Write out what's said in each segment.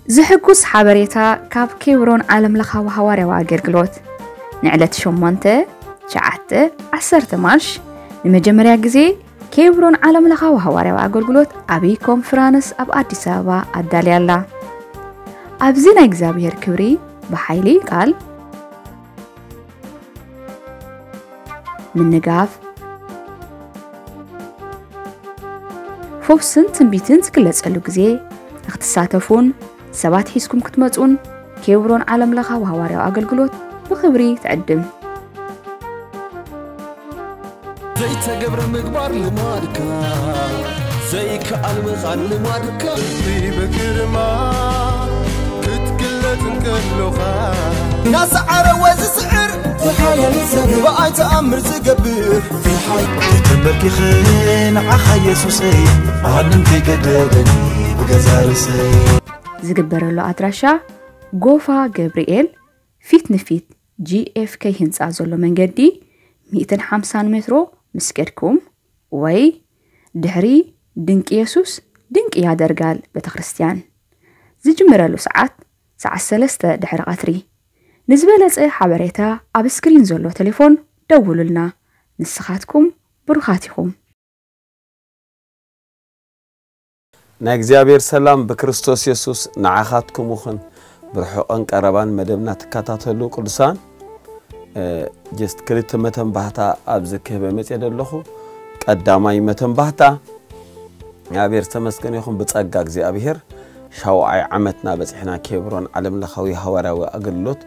ዝሕጉስ ሓበሬታ ካብ ኬብሮን ዓለምለኻዊ ሃዋርያዊ ኣገልግሎት። ንዕለት ሸሞንተ፣ ትሽዓተ፣ ዓሰርተ ማርች ንመጀመርያ ግዜ ኬብሮን ዓለምለኻዊ ሃዋርያዊ ኣገልግሎት ዓብዪ ኮንፈረንስ ኣብ ኣዲስ ኣበባ ኣዳልያ ኣላ። ኣብዚ ናይ እግዚኣብሔር ክብሪ ብሓይሊ ቃል ምንጋፍ፣ ፈውስን ትንቢትን ዝግለጸሉ ግዜ ንክትሳተፉን ሰባት ሒዝኩም ክትመጹን ኬብሮን ዓለምለኻዊ ሃዋርያዊ ኣገልግሎት ብኽብሪ ትዕድም። ዘይተገብረ ምግባር ልማድካ፣ ዘይከኣል ምኻን ልማድካ። ብግርማ ክትግለጽ እንከሎኻ፣ እናሰዓረ ወዝስዕር ዝሓያል ሰብ ብኣይ ተኣምር ዝገብር። ተንበርኪኸ ንዓኻ የሱሰይ፣ ማንም ከይገደበኒ ብገዛ ርእሰይ። ዝግበረሉ ኣድራሻ ጎፋ ገብርኤል ፊት ንፊት ጂ ኤፍ ከይ ህንፃ ዘሎ መንገዲ ሚእትን ሓምሳን ሜትሮ ምስ ከድኩም ወይ ድሕሪ ድንቂ የሱስ ድንቂ ያደርጋል ቤተክርስትያን ዝጅምረሉ ሰዓት ሰዓት ሰለስተ ድሕሪ ቀትሪ። ንዝበለፀ ሓበሬታ ኣብ ስክሪን ዘሎ ቴሌፎን ደውሉልና። ንስኻትኩም ብሩኻት ኢኹም። ናይ እግዚኣብሔር ሰላም ብክርስቶስ የሱስ ንዓኻትኩም ይኹን። ብርሑቕን ቀረባን መደብና ትከታተሉ ቅዱሳን፣ ጀስት ክልተ መተንባህታ ኣብዚ ክህበ መፅየ ዘለኹ። ቀዳማይ መተንባህታ እግዚኣብሔር ዝተመስገነ ይኹን፣ ብጸጋ እግዚኣብሔር ሻውዓይ ዓመትና በጺሕና። ኬብሮን ዓለምለኻዊ ሃዋርያዊ ኣገልግሎት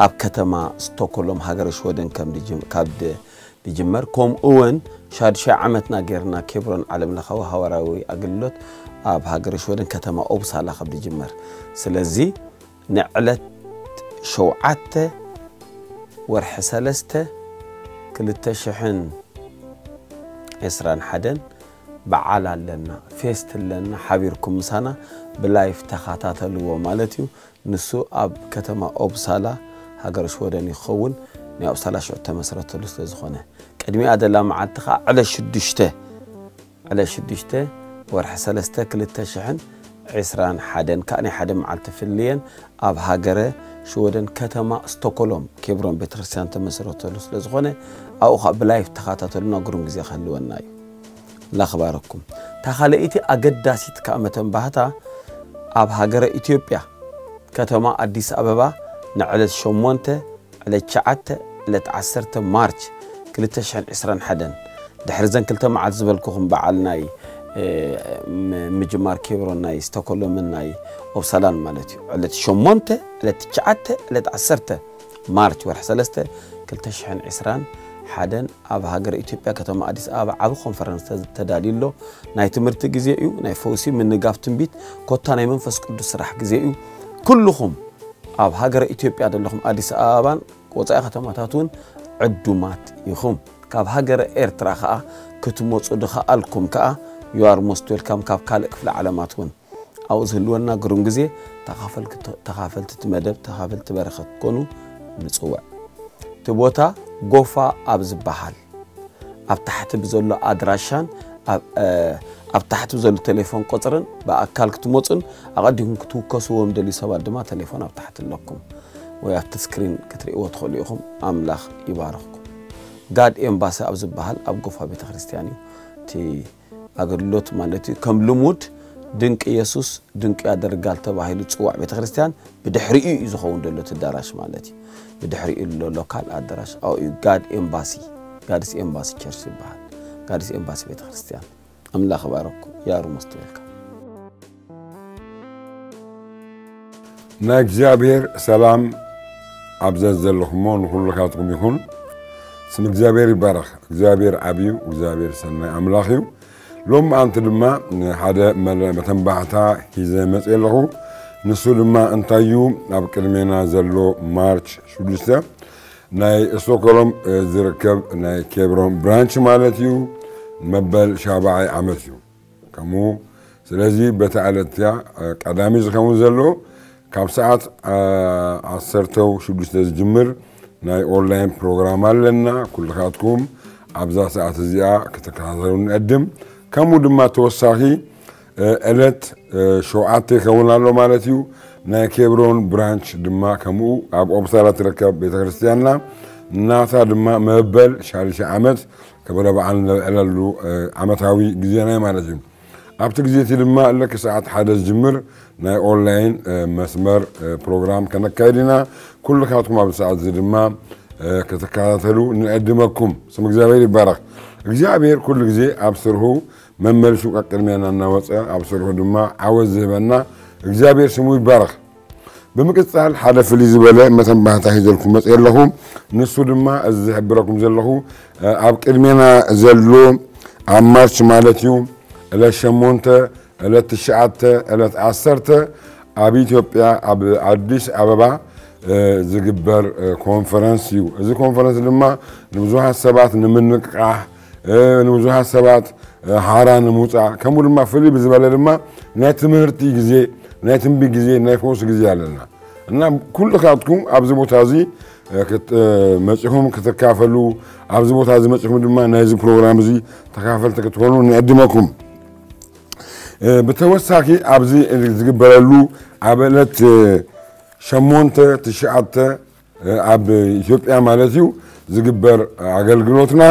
ኣብ ከተማ ስቶኮሎም ሃገረ ሽወደን ከም ድጅም- ካብ ድ- ድጅመር፣ ከምኡ እውን ሻዱሻይ ዓመትና ጌርና ኬብሮን ዓለምለኻዊ ሃዋርያዊ ኣገልግሎት ኣብ ሃገረ ሽወደን ከተማ ኦብሳላ ከም ድጅመር። ስለዚ ንዕለት ሸውዓተ ወርሒ ሰለስተ ክልተ ሽሕን ዕስራን ሓደን በዓል ኣለና፣ ፌስት ኣለና፣ ሓቢርኩም ምሳና ብላይፍ ተኻታተልዎ ማለት እዩ። ንሱ ኣብ ከተማ ኦብሳላ ሃገረ ሽወደን ይኸውን። ናይ ኦብሳላ ሽዑ ተመስረተሉ ስለ ዝኾነ ቅድሚኣ ዘላ መዓልቲ ኸዓ ዕለት ሽዱሽተ ዕለት ሽዱሽተ ወርሒ ሰለስተ ክልተ ሽሕን ዕስራን ሓደን ከኣ ናይ ሓደ መዓልቲ ፍልየን ኣብ ሃገረ ሽወደን ከተማ ስቶኮሎም ኬብሮን ቤተክርስትያን ተመስረተሉ ስለ ዝኾነ ኣብኡ ኸዓ ብላይፍ ተኻታተሉና ግሩም ግዜ ክህልወና እዩ። ላኽባረኩም። እታ ካልኣይቲ ኣገዳሲት ከኣ መተንባህታ ኣብ ሃገረ ኢትዮጵያ ከተማ ኣዲስ ኣበባ ንዕለት ሸሞንተ ዕለት ትሽዓተ ዕለት ዓሰርተ ማርች ክልተ ሽሕን ዕስራን ሓደን ድሕሪ ዘን ክልተ መዓልቲ ዝበልኩኹም በዓል ናይ ምጅማር ኬብሮን ናይ ስቶኮሎምን ናይ ኦፕሳላን ማለት እዩ። ዕለት ሸሞንተ ዕለት ትሽዓተ ዕለት ዓሰርተ ማርች ወርሒ ሰለስተ ክልተ ሽሕን ዕስራን ሓደን ኣብ ሃገረ ኢትዮጵያ ከተማ ኣዲስ ኣበባ ዓቢ ኮንፈረንስ ተዳልዩ ኣሎ። ናይ ትምህርቲ ግዜ እዩ። ናይ ፈውሲ ምንጋፍ ትንቢት ኮታ ናይ መንፈስ ቅዱስ ስራሕ ግዜ እዩ። ኩልኹም ኣብ ሃገረ ኢትዮጵያ ዘለኹም ኣዲስ ኣበባን ወፃኢ ከተማታት እውን ዕዱማት ኢኹም። ካብ ሃገረ ኤርትራ ከዓ ክትመፁ ድኸኣልኩም ከዓ you are most welcome። ካብ ካልእ ክፍለ ዓለማት እውን ኣብኡ ዝህልወና ግሩም ግዜ ተኻፈልቲ መደብ ተኻፈልቲ በረኸት ክትኮኑ ንፅውዕ። እቲ ቦታ ጎፋ ኣብ ዝበሃል ኣብ ታሕቲ ብዘሎ ኣድራሻን ኣብ ታሕቲ ብዘሎ ቴሌፎን ቁፅርን ብኣካል ክትመፁን ኣቐዲኩም ክትውከስዎም ደልዩ ሰባት ድማ ቴሌፎን ኣብ ታሕቲ ኣለኩም ወይ ኣብቲ ስክሪን ክትርእይዎ ትኽእሉ ኢኹም። ኣምላኽ ይባርኽኩም። ጋድ ኤምባሲ ኣብ ዝበሃል ኣብ ጎፋ ቤተ ክርስቲያን እዩ እቲ ኣገልግሎት ማለት እዩ። ከም ልሙድ ድንቂ ኢየሱስ ድንቂ ያደርጋል ተባሂሉ ዝፅዋዕ ቤተ ክርስቲያን ብድሕሪኡ እዩ ዝኸውን ዘሎ እቲ ኣዳራሽ ማለት እዩ። ብድሕሪኡ ዘሎ ሎካል ኣዳራሽ ኣብኡ እዩ። ጋድ ኤምባሲ ጋድስ ኤምባሲ ቸርች ይበሃል። ጋድስ ኤምባሲ ቤተ ክርስቲያን። ኣምላኽ ይባረኩም። You are most welcome። ናይ እግዚኣብሔር ሰላም ኣብ ዘዘለኹሞ ንኹልኻትኩም ይኹን። ስም እግዚኣብሔር ይባረኽ። እግዚኣብሔር ዓብዩ እግዚኣብሔር ሰናይ ኣምላኽ እዩ። ሎም ኣንቲ ድማ ሓደ መተንባሕታ ሂዘ መፅእ ኣለኹ። ንሱ ድማ እንታይ እዩ? ኣብ ቅድሜና ዘሎ ማርች ሽዱሽተ ናይ ስቶክሆልም ዝርከብ ናይ ኬብሮን ብራንች ማለት እዩ። መበል ሻብዓይ ዓመት እዩ። ከምኡ ስለዚ በታ ዕለት እያ ቀዳሚ ዝኸውን ዘሎ ካብ ሰዓት ዓሰርተ ሽዱሽተ ዝጅምር ናይ ኦንላይን ፕሮግራም ኣለና። ኩልኻትኩም ኣብዛ ሰዓት እዚኣ ክትከታተሉ ንዕድም። ከምኡ ድማ ተወሳኺ ዕለት ሸውዓተ ይኸውን ኣሎ ማለት እዩ። ናይ ኬብሮን ብራንች ድማ ከምኡ ኣብ ኦፕሳላ ትርከብ ቤተክርስትያንና ናታ ድማ መበል ሻድሻይ ዓመት ከበረ በዓል ነብዕለሉ ዓመታዊ ግዜና ማለት እዩ። ኣብቲ ግዜ እቲ ድማ ልክ ሰዓት ሓደ ዝጅምር ናይ ኦንላይን መስመር ፕሮግራም ከነካይድ ኢና። ኩልካትኩም ኣብዚ ሰዓት እዚ ድማ ክትከታተሉ ንዕድመኩም። ስም እግዚኣብሔር ይባረኽ። እግዚኣብሔር ኩሉ ግዜ ኣብ ስርሑ መመልሹ ቀቅድሜና እናወፀ ኣብ ስርሑ ድማ ዓወት ዝህበና እግዚኣብሔር ስሙ ይባረኽ። ብምቅፃል ሓደ ፍልይ ዝበለ መተንባህታ ሒዘልኩም መፅእ ኣለኹ። ንሱ ድማ እዚ ዝሕብረኩም ዘለኹ ኣብ ቅድሜና ዘሎ ኣብ ማርች ማለት እዩ ዕለት ሸሞንተ ዕለት ትሽዓተ ዕለት ዓሰርተ ኣብ ኢትዮጵያ ኣብ ኣዲስ ኣበባ ዝግበር ኮንፈረንስ እዩ። እዚ ኮንፈረንስ ድማ ንብዙሃት ሰባት ንምንቅቃሕ፣ ንብዙሃት ሰባት ሓራ ንምውፃእ፣ ከምኡ ድማ ፍልይ ብዝበለ ድማ ናይ ትምህርቲ ግዜ፣ ናይ ትንቢት ግዜ፣ ናይ ፈውሲ ግዜ ኣለና እና ኩልኻትኩም ኣብዚ ቦታ እዚ መፂኹም ክትካፈሉ፣ ኣብዚ ቦታ እዚ መፂኹም ድማ ናይዚ ፕሮግራም እዚ ተካፈልቲ ክትኮኑ ንዕድመኩም። ብተወሳኺ ኣብዚ ዝግበረሉ ኣብ ዕለት ሸሞንተ ትሽዓተ ኣብ ኢትዮጵያ ማለት እዩ ዝግበር ኣገልግሎትና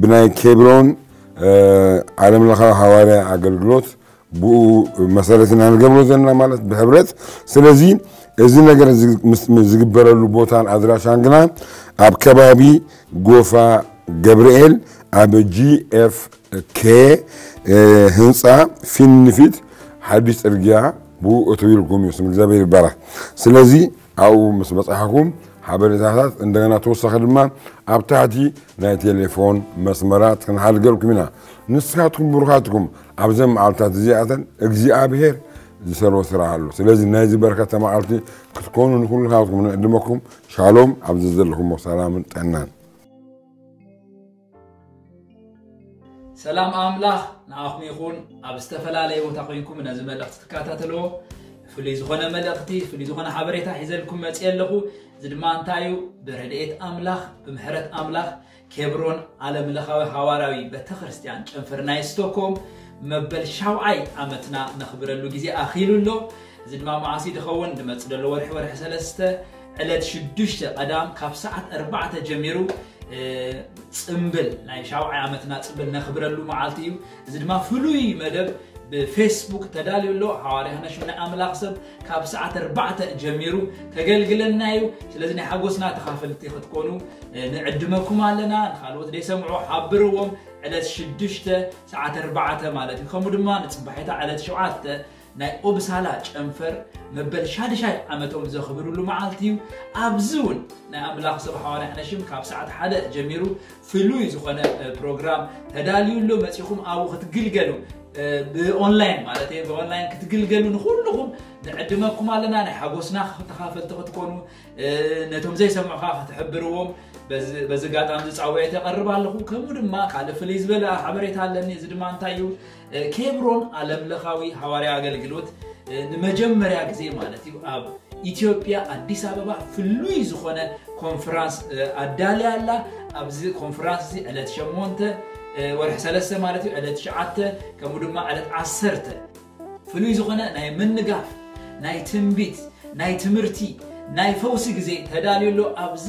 ብናይ ኬብሮን ዓለም ለኻዊ ሃዋርያ ኣገልግሎት ብኡ መሰረት ኢና ንገብሮ ዘለና ማለት ብሕብረት። ስለዚ እዚ ነገር ዝግበረሉ ቦታን ኣድራሻን ግና ኣብ ከባቢ ጎፋ ገብርኤል ኣብ ጂ ኤፍ ኬ ህንፃ ፊት ንፊት ሓድሽ ፅርግያ ብኡ እትው ኢልኩም እዩ። ስም እግዚኣብሔር ይባረክ። ስለዚ ኣብኡ ምስ በፃሕኩም ሓበሬታታት እንደገና ተወሳኺ ድማ ኣብ ታሕቲ ናይ ቴሌፎን መስመራት ክንሓድገልኩም ኢና። ንስኻትኩም ብሩኻትኩም ኣብዘን መዓልታት እዚኣተን እግዚኣብሔር ዝሰርቦ ስራሕ ኣሎ። ስለዚ ናይዚ በረከተ መዓልቲ ክትኮኑ ንኩልኻትኩም ንዕድመኩም። ሻሎም፣ ኣብዚ ዘለኹሞ ሰላምን ጥዕናን። ሰላም ኣምላኽ ንኣኹም ይኹን። ኣብ ዝተፈላለየ ቦታ ኮይንኩም ነዚ መልእኽቲ ትከታተልዎ ፍሉይ ዝኾነ መልእኽቲ፣ ፍሉይ ዝኾነ ሓበሬታ ሒዘልኩም መፅእ ኣለኹ። እዚ ድማ እንታይ እዩ? ብረድኤት ኣምላኽ፣ ብምሕረት ኣምላኽ ኬብሮን ዓለም ለኻዊ ሃዋርያዊ ቤተክርስትያን ጨንፈር ናይ ስቶኮም መበል ሻውዓይ ዓመትና ነኽብረሉ ግዜ ኣኺሉ ኣሎ። እዚ ድማ መዓስ እዩ ዝኸውን? ዝመፅእ ዘሎ ወርሒ፣ ወርሒ ሰለስተ ዕለት ሽዱሽተ ቀዳም ካብ ሰዓት ኣርባዕተ ጀሚሩ ፅምብል ናይ ሻውዓይ ዓመትና ፅምብል ነኽብረሉ መዓልቲ እዩ። እዚ ድማ ፍሉይ መደብ ብፌስቡክ ተዳልዩ ኣሎ። ሃዋርያ ነሽም ናይ ኣምላኽ ሰብ ካብ ሰዓት ኣርባዕተ ጀሚሩ ከገልግለና እዩ። ስለዚ ናይ ሓጎስና ተኻፈልቲ ክትኮኑ ንዕድመኩም ኣለና። ንካልኦት ዘይሰምዑ ሓብርዎም። ዕለት ሽዱሽተ ሰዓት ኣርባዕተ ማለት እዩ። ከምኡ ድማ ንፅባሒታ ዕለት ሸውዓተ ናይ ኦብሳላ ጨንፈር መበል ሻድሻይ ዓመቶም ዘኽብርሉ መዓልቲ እዩ። ኣብዚ እውን ናይ ኣምላኽ ሰብ ሃዋርያ ነሽም ካብ ሰዓት ሓደ ጀሚሩ ፍሉይ ዝኾነ ፕሮግራም ተዳልዩ ኣሎ። መፂኹም ኣብኡ ክትግልገሉ ብኦንላይን ማለት እዩ፣ ብኦንላይን ክትግልገሉ ንኩልኹም ንዕድመኩም ኣለና። ናይ ሓጎስና ተኻፈልቲ ክትኮኑ ነቶም ዘይሰምዑ ከዓ ክትሕብርዎም በዚ ኣጋጣሚ ዝፃውዒት የቐርብ ኣለኹ። ከምኡ ድማ ካልእ ፍልይ ዝበለ ሓበሬታ ኣለኒ። እዚ ድማ እንታይ እዩ? ኬብሮን ዓለም ለኻዊ ሃዋርያ ኣገልግሎት ንመጀመርያ ግዜ ማለት እዩ ኣብ ኢትዮጵያ ኣዲስ ኣበባ ፍሉይ ዝኾነ ኮንፈራንስ ኣዳልያ ኣላ። ኣብዚ ኮንፈራንስ እዚ ዕለት ሸሞንተ ወርሒ ሰለስተ ማለት እዩ፣ ዕለት ትሽዓተ ከምኡ ድማ ዕለት ዓሰርተ ፍሉይ ዝኾነ ናይ ምንጋፍ፣ ናይ ትንቢት፣ ናይ ትምህርቲ፣ ናይ ፈውሲ ግዜ ተዳልዩ ኣሎ። ኣብዚ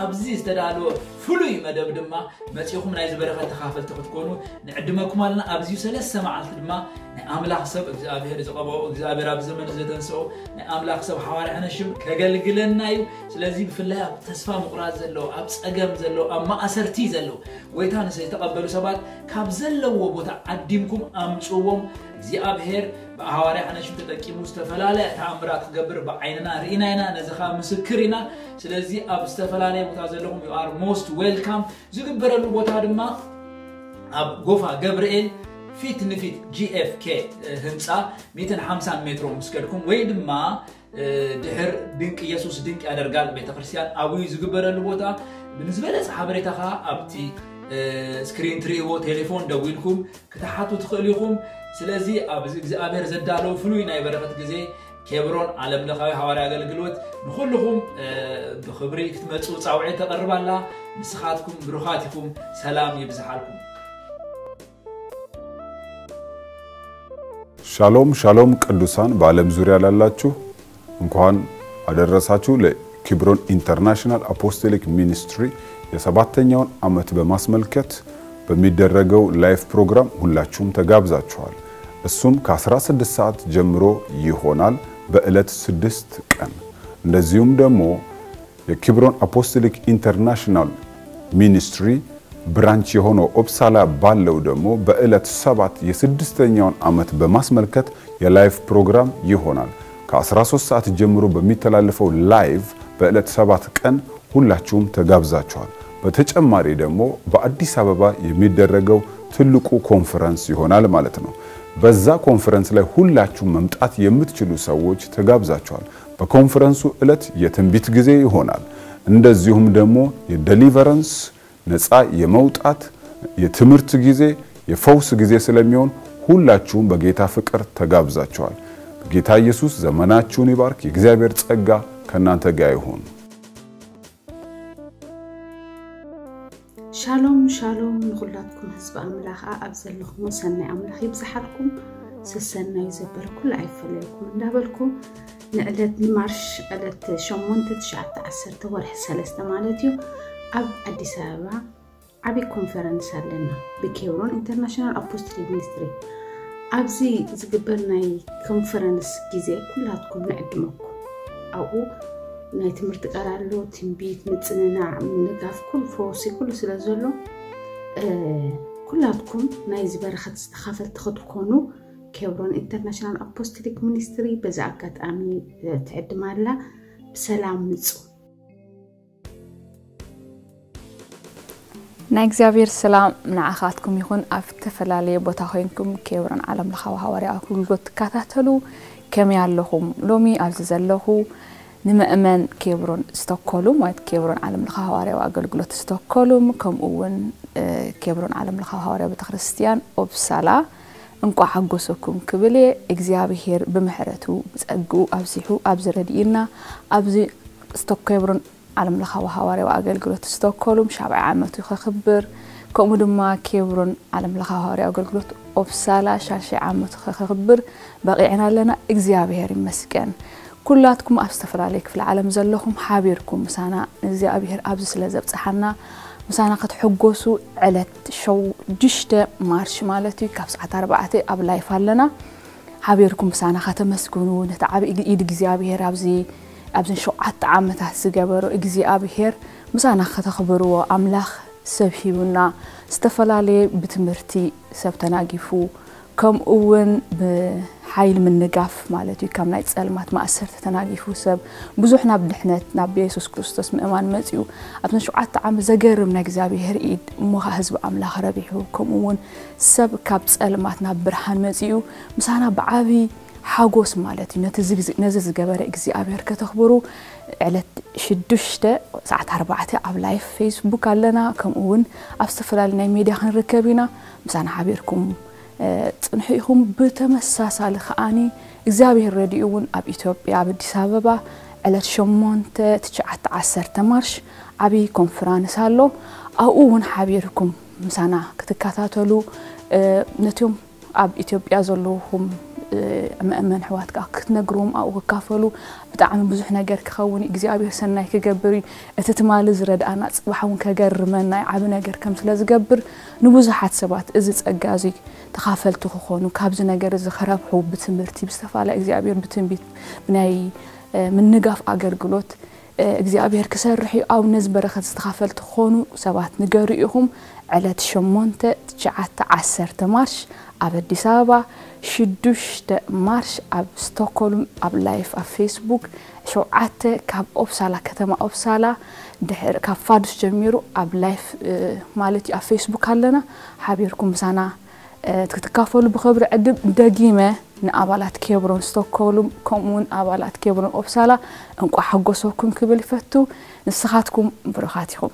ኣብዚ ዝተዳለወ ፍሉይ መደብ ድማ መፂኹም ናይዚ በረኸት ተኻፈልቲ ክትኮኑ ንዕድመኩም ኣለና። ኣብዚዩ ሰለስተ መዓልቲ ድማ ናይ ኣምላኽ ሰብ እግዚኣብሔር ዝቐበኦ እግዚኣብሔር ኣብ ዘመን ዘተንስኦ ናይ ኣምላኽ ሰብ ሓዋርያ ነሽም ከገልግለና እዩ። ስለዚ ብፍላይ ኣብ ተስፋ ምቑራፅ ዘለዉ፣ ኣብ ፀገም ዘለዉ፣ ኣብ ማእሰርቲ ዘለዉ፣ ጎይታ ንስ ዝተቐበሉ ሰባት ካብ ዘለዎ ቦታ ዓዲምኩም ኣምፅዎም። እግዚኣብሔር ብሃዋርያ ሓነሽም ተጠቂሙ ዝተፈላለየ ተኣምራት ክገብር ብዓይንና ርኢና ኢና፣ ነዚ ከዓ ምስክር ኢና። ስለዚ ኣብ ዝተፈላለየ ቦታ ዘለኹም you are most welcome። ዝግበረሉ ቦታ ድማ ኣብ ጎፋ ገብርኤል ፊት ንፊት ጂ ኤፍ ኬ ህንፃ ሚእትን ሓምሳን ሜትሮ ምስ ከድኩም ወይ ድማ ድሕር ድንቅ ኢየሱስ ድንቅ ያደርጋል ቤተክርስትያን ኣብዩ ዝግበረሉ ቦታ። ንዝበለፀ ሓበሬታ ከዓ ኣብቲ ስክሪን ትርእይዎ ቴሌፎን ደዊልኩም ክትሓቱ ትኽእሉ ኢኹም። ስለዚ ኣብዚ እግዚኣብሔር ዘዳለዉ ፍሉይ ናይ በረኸት ግዜ ኬብሮን ዓለም ለኻዊ ሃዋርያ ኣገልግሎት ንኹልኹም ብኽብሪ ክትመፁ ፃውዒት ተቐርብ ኣላ። ንስኻትኩም ብሩኻት ኢኹም። ሰላም ይብዝሓልኩም። ሻሎም ሻሎም ቅዱሳን በዓለም ዙሪያ ላላችሁ እንኳን አደረሳችሁ። ለኪብሮን ኢንተርናሽናል አፖስቶሊክ ሚኒስትሪ የሰባተኛውን ዓመት በማስመልከት በሚደረገው ላይቭ ፕሮግራም ሁላችሁም ተጋብዛችኋል። እሱም ከ16 ሰዓት ጀምሮ ይሆናል፣ በዕለት ስድስት ቀን። እንደዚሁም ደግሞ የኪብሮን አፖስቶሊክ ኢንተርናሽናል ሚኒስትሪ ብራንች የሆነው ኦፕሳላ ባለው ደግሞ በዕለት ሰባት የስድስተኛውን ዓመት በማስመልከት የላይቭ ፕሮግራም ይሆናል። ከ13 ሰዓት ጀምሮ በሚተላለፈው ላይቭ በዕለት ሰባት ቀን ሁላችሁም ተጋብዛችኋል። በተጨማሪ ደግሞ በአዲስ አበባ የሚደረገው ትልቁ ኮንፈረንስ ይሆናል ማለት ነው። በዛ ኮንፈረንስ ላይ ሁላችሁም መምጣት የምትችሉ ሰዎች ተጋብዛችኋል። በኮንፈረንሱ ዕለት የትንቢት ጊዜ ይሆናል። እንደዚሁም ደግሞ የዴሊቨረንስ፣ ነፃ የመውጣት፣ የትምህርት ጊዜ፣ የፈውስ ጊዜ ስለሚሆን ሁላችሁም በጌታ ፍቅር ተጋብዛችኋል። ጌታ ኢየሱስ ዘመናችሁን ይባርክ። የእግዚአብሔር ጸጋ ከእናንተ ጋር ይሁን። ሻሎም ሻሎም ንኹላትኩም ህዝቢ ኣምላኽ፣ ኣብ ዘለኹም ሰናይ ኣምላኽ ይብዝሓልኩም። ሰሰናዩ ዘበለ ኩሉ ኣይፈለየኩም እንዳበልኩ፣ ንዕለት ንማርሽ ዕለት ሸሞንተ፣ ትሽዓተ፣ ዓሰርተ ወርሒ ሰለስተ ማለት እዩ፣ ኣብ ኣዲስ ኣበባ ዓብዪ ኮንፈረንስ ኣለና ብኬብሮን ኢንተርናሽናል ኣፖስቶሊክ ሚኒስትሪ። ኣብዚ ዝግበር ናይ ኮንፈረንስ ግዜ ኩላትኩም ንዕድመኩም። ኣብኡ ናይ ትምህርቲ ቃል ኣሎ፣ ትንቢት፣ ምጽንናዕ፣ ምንጋፍ፣ ኩሉ ፈውሲ ኩሉ ስለ ዘሎ፣ ኩላትኩም ናይዚ በረኸት ዝተኻፈልቲ ክትኮኑ ኬብሮን ኢንተርናሽናል ኣፖስቶሊክ ሚኒስትሪ በዚ ኣጋጣሚ ትዕድም ኣላ። ብሰላም ምጹ። ናይ እግዚኣብሔር ሰላም ንዓኻትኩም ይኹን። ኣብ ዝተፈላለየ ቦታ ኮይንኩም ኬብሮን ዓለም ለኻዊ ሃዋርያ ኣገልግሎት ትከታተሉ ከመይ ኣለኹም? ሎሚ ኣብዚ ዘለኹ ንመእመን ኬብሮን ስቶኮሉም፣ ማለት ኬብሮን ዓለም ለኻዊ ሃዋርያዊ ኣገልግሎት ስቶኮሉም፣ ከምኡ እውን ኬብሮን ዓለም ለኻዊ ሃዋርያዊ ቤተክርስትያን ኦፕሳላ እንቋዕ ሓጎሰኩም ክብል እየ። እግዚኣብሔር ብምሕረቱ ብጸግኡ ኣብዚሑ ኣብዚ ረድኢና ኣብዚ ስቶኮ ኬብሮን ዓለም ለኻዊ ሃዋርያዊ ኣገልግሎት ስቶኮሉም ሻብዓይ ዓመቱ ከኽብር፣ ከምኡ ድማ ኬብሮን ዓለም ለኻዊ ሃዋርያዊ ኣገልግሎት ኦፕሳላ ሻሽይ ዓመቱ ከኽብር በቒዕና ኣለና። እግዚኣብሔር ይመስገን። ኩላትኩም ኣብ ዝተፈላለየ ክፍሊ ዓለም ዘለኹም ሓቢርኩም ምሳና ንእግዚኣብሔር ኣብዚ ስለ ዘብጽሓና ምሳና ክትሕጎሱ ዕለት ሸዱሽተ ማርች ማለት እዩ ካብ ሰዓት ኣርባዕተ ኣብ ላይፍ ኣለና። ሓቢርኩም ምሳና ከተመስግኑ ነቲ ዓብዪ ኢድ እግዚኣብሔር ኣብዚ ኣብዘን ሸውዓተ ዓመታት ዝገበሮ እግዚኣብሔር ምሳና ከተኽብርዎ ኣምላኽ ሰብ ሂቡና ዝተፈላለየ ብትምህርቲ ሰብ ተናጊፉ ከምኡ እውን ብሓይል ምንጋፍ ማለት እዩ ካብ ናይ ጸልማት ማእሰርቲ ተናጊፉ ሰብ ብዙሕ ናብ ድሕነት ናብ የሱስ ክርስቶስ ምእማን መጺኡ ኣብዘን ሸውዓተ ዓመት ዘገርም ናይ እግዚኣብሔር ኢድ እሞ ኸዓ ህዝቢ ኣምላኽ ረቢሑ ከምኡ እውን ሰብ ካብ ጸልማት ናብ ብርሃን መጺኡ ምሳና ብዓብዪ ሓጎስ ማለት እዩ ነዚ ዝገበረ እግዚኣብሔር ከተኽብሩ ዕለት ሽዱሽተ ሰዓት ኣርባዕተ ኣብ ላይፍ ፌስቡክ ኣለና ከምኡ እውን ኣብ ዝተፈላለዩ ናይ ሜድያ ክንርከብ ኢና ምሳና ሓቢርኩም ጽንሑ ኢኹም ብተመሳሳሊ ከዓኒ እግዚኣብሔር ረድኡ እውን ኣብ ኢትዮጵያ ኣብ ኣዲስ ኣበባ ዕለት ሸሞንተ ትሽዓተ ዓሰርተ ማርሽ ዓብዪ ኮንፍራንስ ኣሎ ኣብኡ እውን ሓቢርኩም ምሳና ክትከታተሉ ነቲዮም ኣብ ኢትዮጵያ ዘለኹም መእመን ሕዋት ከዓ ክትነግርዎም ኣብኡ ክካፈሉ ብጣዕሚ ብዙሕ ነገር ክኸውን እዩ እግዚኣብሔር ሰናይ ክገብር እዩ እቲ ትማሊ ዝረድኣና ፅባሕ እውን ከገርመና እዩ ዓብ ነገር ከም ስለ ዝገብር ንብዙሓት ሰባት እዚ ፀጋ እዚ ተኻፈልቲ ክኾኑ ካብዚ ነገር እዚ ክረብሑ ብትምህርቲ ብዝተፈላለየ እግዚኣብሔር ብትንቢት ብናይ ምንጋፍ ኣገልግሎት እግዚኣብሔር ክሰርሕ እዩ ኣብ ነዚ በረኸት ዝተኻፈልቲ ክኾኑ ሰባት ንገሩ ኢኹም ዕለት ሸሞንተ ትሽዓተ ዓሰርተ ማርሽ ኣብ ኣዲስ ኣበባ ሽዱሽተ ማርሽ ኣብ ስቶኮልም ኣብ ላይፍ ኣብ ፌስቡክ ሸውዓተ ካብ ኦፕሳላ ከተማ ኦፕሳላ ድሕር ካብ ፋዱስ ጀሚሩ ኣብ ላይፍ ማለት እዩ ኣብ ፌስቡክ ኣለና ሓቢርኩም ምሳና ክትካፈሉ ብኽብሪ ዕድም ደጊመ ንኣባላት ኬብሮን ስቶኮልም ከምኡውን ኣባላት ኬብሮን ኦፕሳላ እንቋ ሓጎሰኩም ክብል ይፈቱ ንስኻትኩም ብሩኻት ኢኹም